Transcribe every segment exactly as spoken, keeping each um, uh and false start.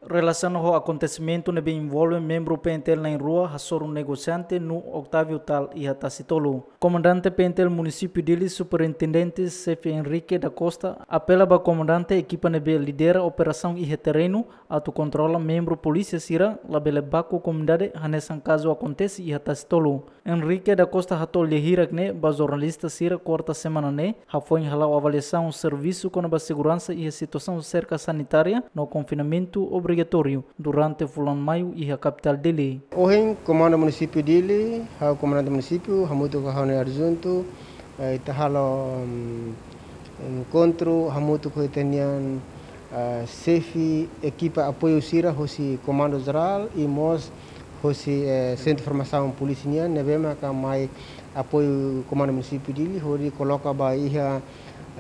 Relasiona ho akontesimentu ne'ebé envolve membru P N T L na'in-rua hasoru negosiante no Octavio Tal iha Tasi Tolu, Komandante P N T L Munisípiu Dili, Superintendente Xefe Henrique da Costa, apela ba komandante ekipa ne'ebé lidera operasaun iha terrenu atu kontrola membru polísia sira labele baku komunidade hanesan kazu akontese iha Tasi Tolu. Henrique da Costa hato'o lia hirak ne'e ba jornalista sira kuarta semana ne'e, hafoin hala'o avaliasaun servisu kona-ba seguransa iha situasaun serka sanitária no konfinamentu obrigatóriu durante fulan maiu iha kapitál Dili. Ohin, Komandu Munisípiu Dili, ha'u Komandante Munisípiu, hamutuk ho ha'u-nia adjuntu, eh, ita halo, mm, enkontru hamutuk ho ita-nian, eh, xefe ekipa apoiu sira hosi Komandu Jerál i mós hosi, eh, Sentru Formasaun Polísia nian, ne'ebé maka mai apoiu Komandu Munisípiu Dili, hodi koloka ba iha,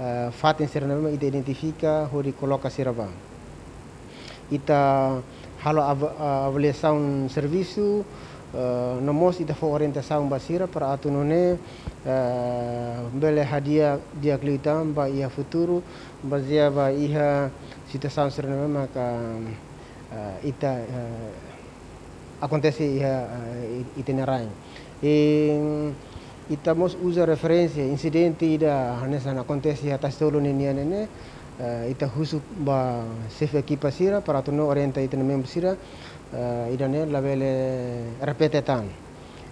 eh, fatin sira ne'ebé mak ita identifika, hodi koloka sira ba. Ita halo av-, eh, avaliasaun servisu, eh, no mós ita fó orientasaun ba sira para atu nune'e, eh, bele hadi'a di'ak liután ba iha futuru, bazeia ba iha situasaun sira ne'ebé maka, eh, ita, eh, akontese iha, eh, i-, ita-nia rain. I ita mós uza referénsia insidente ida hanesan akontese iha Tasi Tolu ninian ne'e, eh, ita husu ba xefe ekipa sira para atu nune'e orienta ita-nia membru sira, eh, ida-ne'e labele repete tan.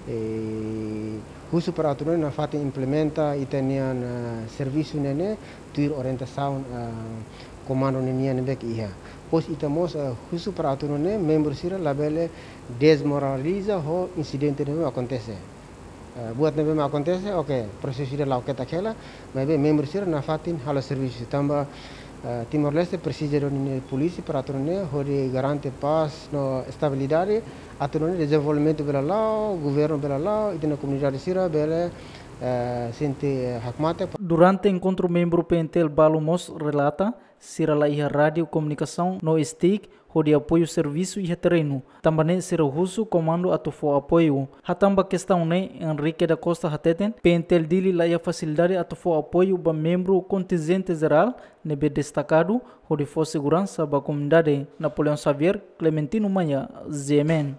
I husu para atu nune'e nafatin implementa ita-nian, eh, servisu ne'e, ne'e tuir orientasaun, eh, komandu ninian ne'ebé ke iha. Depois ita mós, eh, husu para atu nune'e membru sira labele dezmoraliza ho insidente ne'ebé akontese. Eh, buat ne'ebé mak akontese, oke, prosesu ida la'o ketak hela, maibé membru sira nafatin halo servisu tanba, eh, Timor-Leste presiza duni nia polísia para atu nune'e hodi garante pás no estabilidade, atu nune'e dezenvolvimentu bele la'o, governu bele la'o, ita-nia komunidade sira bele, eh, sente, eh, hakmatek. Durante enkontru membru P N T L balu mós relata, sira la iha rádiu komunikasaun no stick hodi apoiu servisu iha terrenu. Tanba ne'e sira husu komandu atu fó apoiu. Hatán ba kestaun ne'e, Henrique da Costa hateten, P N T L Dili la iha fasilidade atu fó apoiu ba membru kontinjente jerál ne'ebé destakadu hodi fó seguransa ba komunidade. Napoleão Xavier, Clementino Maia, G M N.